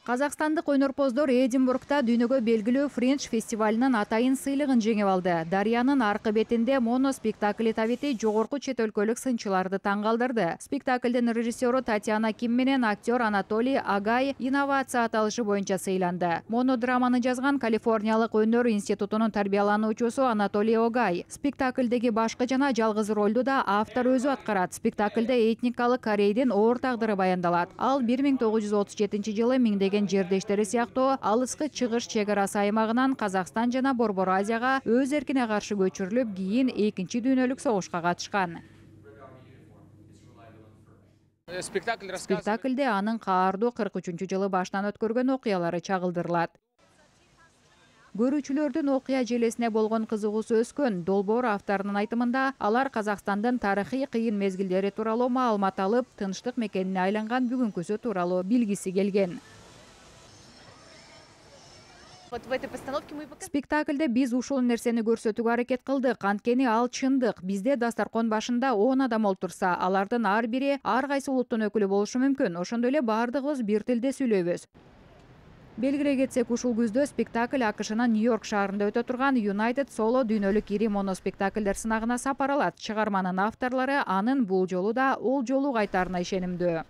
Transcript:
Казакстандык өнөрпоздор Эдинбургда дүйнөгө белгилүү Френч фестивалынын атайын сыйлыгын жеңип алды. Дарыянын аркы бетинде моноспектакли табити жогорку чет өлкөлүк сынчыларды таң калтырды. Спектаклдин режиссеру Татьяна Ким менен актер Анатолий Агай инновация аталышы боюнча сыйланды. Монодраманы жазган Калифорниялык өнөр институтунун тарбиялануучусу Анатолий Агай. Спектаклдеги башкы жана жалгыз ролду да автор өзү аткарат. Спектаклде этникалык Корейдин оор тагдыры баяндалат. Ал 1937-жылы миңдеген жердештери сыяктуу алыскы чыгыш чек арасы аймагынан Казакстан жана Борбор Азияга өз эркине каршы көчүрүлүп, кийин Экинчи дүйнөлүк согушка катышкан. Спектаклде анын каардуу 43-жылы баштан өткөргөн окуялары чагылдырылат. Көрүүчүлөрдүн окуя желесине болгон кызыгуусу өскөн. Долбоор авторунун айтымында, алар Казакстандын тарыхый кыйын мезгилдери тууралуу маалымат алып, тынчтык мекенине айланган бүгүнкүсү тууралуу билгиси келген. Спектаклде биз ушул нерсени көрсөтүүгө аракет кылдык, анткени ал чындык. Бизде дастаркон башында 10 адам олтурса, алардын ар бири ар кайсы улуттун өкүлү болушу мүмкүн. Ошондой эле бардыгыбыз бир тилде сүйлөйбүз. Белгилей кетсек, ушул күздө спектакль АКШнын Нью-Йорк шаарында өтө турган United Solo дүйнөлүк ири моноспектакльдер сынагына сапар алат. Чыгарманын авторлору анын бул жолу да ол жолу кайтаарына ишенимдүү.